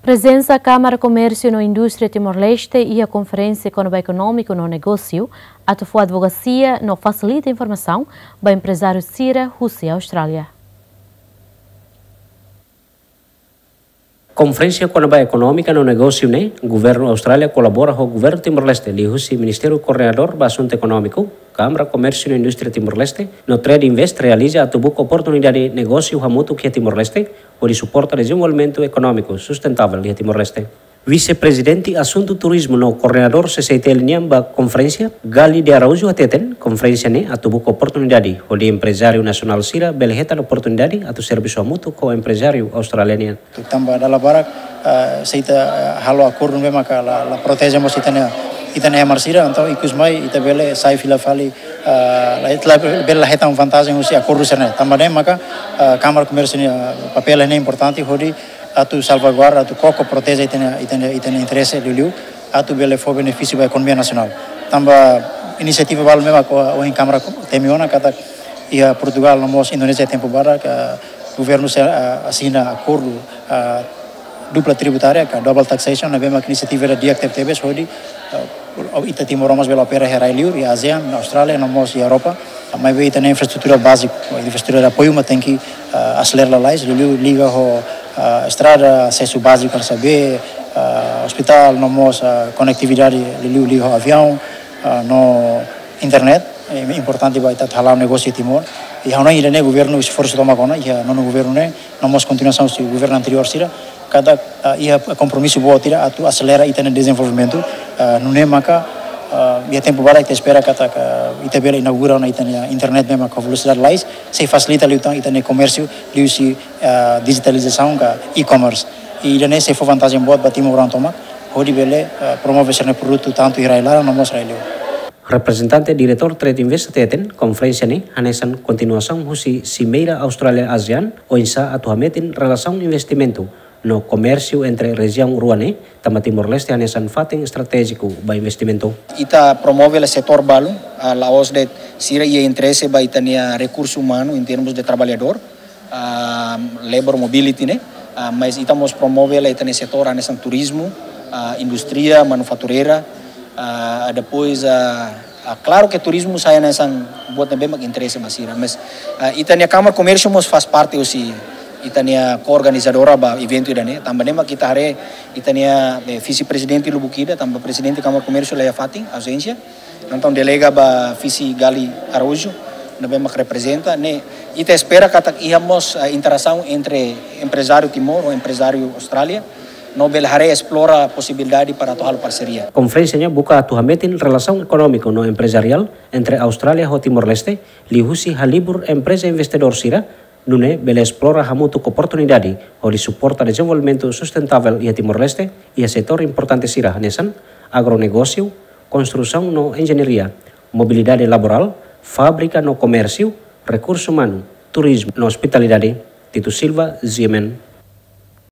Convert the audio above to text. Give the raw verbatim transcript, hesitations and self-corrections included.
Prezensa Kámara Komérsiu no Indústria Timor-Leste iha konferénsia kona-ba ekonómiku no negósiu, atu fó advokasia no fasilita informasaun ba emprezáriu sira husi Austrália. Konferénsia kona-ba ekonómika no negósiu ne'e, Governu Austrália kolabora ho Governu Timor-Leste, liuhusi Ministériu Koordenadór ba Asuntu Ekonómiku, Kámara Komérsiu no Indústria Timor-Leste, no Trade Invest realiza atu buka oportunidade negósiu hamutuk iha Timor-Leste, hodi suporta dezenvolvimentu ekonómiku sustentável iha Timor-Leste. Vise-Prezidente Asuntu Turizmu no Koordenadór C C I T L nian ba konferénsia, Gali de Araújo hateten, konferénsia ne'e atu buka oportunidade hodi emprezáriu nasionál sira bele hetan oportunidade atu servisu hamutuk ho emprezáriu Austrália nian. Tanba dala barak, ah, se ita, ah, halo akordu ne'ebé maka la, la proteje mós ita-nia, ita-nia ema sira, entaun ikus mai ita bele sai fila fali, ah, la, la, bele la hetan vantajen husi akordu sira-ne'e. Tanba ne'e maka, ah, Kámara Komérsiu nia, ah, papél ne'e importante hodi atu salvaguarda, atu koko proteje ita-nia, ita-nia, ita-nia interese liuliu, atu bele fó benefísiu ba ekonomia nasionál. Tanba inisiativa balu ne'ebé maka ohin Kámara temi ona katak iha Portugál no mós Indonézia tempu badak, ah, governu sei, ah, asina akordu, ah, dupla tributária, ka double taxation, ne'ebé maka inisiativa ida di'ak tebetebes hodi, ah, ita Timor mós bele opera iha rai-liur, iha ASEAN, Austrália, no mós iha Europa. Maibé ita-nia infraestrutura báziku, infraestrutura de apoiu mak tenke, ah, aselera lalais, liuliu liga ho, ah, estrada, asesu báziku hanesan bee, ah, ospitál, no mós, ah, konetividade, liuliu liga ho aviaun, ah, no internet, eh, importante ba ita atu hala'o negósiu Timor. I ha'u hanoin ida-ne'e governu esforsu tomak ona, iha nonu governu ne'e, no mós kontinuasaun husi governu anteriór sira, katak, ah, iha kompromisu boot ida atu aselera ita-nia dezenvolvimentu, ah, nune'e maka, ah, iha tempu badak ita espera katak, ah, ita bele inaugura ona ita-nia internet ne'ebé maka velosidade lais, sei fasilita liután ita-nia komérsiu, liuhusi, ah, dijitalizasaun ka e-commerce. I ida-ne'e sei fó vantajen boot ba timoroan tomak, hodi bele, ah, promove sira-nia produtu tantu iha rai-laran no mós rai-liur. Reprezentante Diretór Trade Invest hateten, konferénsia ne'e hanesan kontinuasaun husi Simeira Austrália ASEAN, oinsá atu hametin relasaun investimentu no komérsiu entre rejiaun rua ne'e, tanba Timor-Leste hanesan fatin estratéjiku ba investimentu. Ita promove hela setór balu, ah, la'ós de'it sira iha interese ba ita-nia rekursu umanu em termos de trabalhador, ah, labor mobility ne'e, ah, mas ita mós promove hela ita-nia setór hanesan turizmu, ah, indústria manufatureira, ah, depois, ah, ah, klaru ke turizmu sai hanesan buat ne'ebé mak interese ba sira, mas, ah, ita-nia Kámara Komérsiu mós faz parte husi ita-nia ko-organizadora ba eventu ida-ne'e, tanba ne'e mak ita haree ita-nia, eh, vise-prezidente lubuk ida, tanba prezidente Kámara Komérsiu la iha fatin, ausénsia. Entaun delega ba vise Gali Araújo, ne'ebé mak reprezenta, ne'e ita espera katak iha mós, ah, interasaun entre emprezáriu Timor ho emprezáriu Austrália, no bele haree esplora posibilidade para atu halo parseria. Konferénsia ne'e buka atu hametin relasaun ekonómiku no emprezariál entre Austrália ho Timor-Leste, liuhusi halibur empreza investidór sira, nune'e bele esplora hamutuk oportunidade hodi suporta dezenvolvimentu sustentável iha Timor-Leste, iha setór importante sira hanesan agronegósiu, konstrusaun no enjeñaria, mobilidade laborál, fábrika no komérsiu, rekursu umanu, turizmu no ospitalidade. Tito Silva, G M N.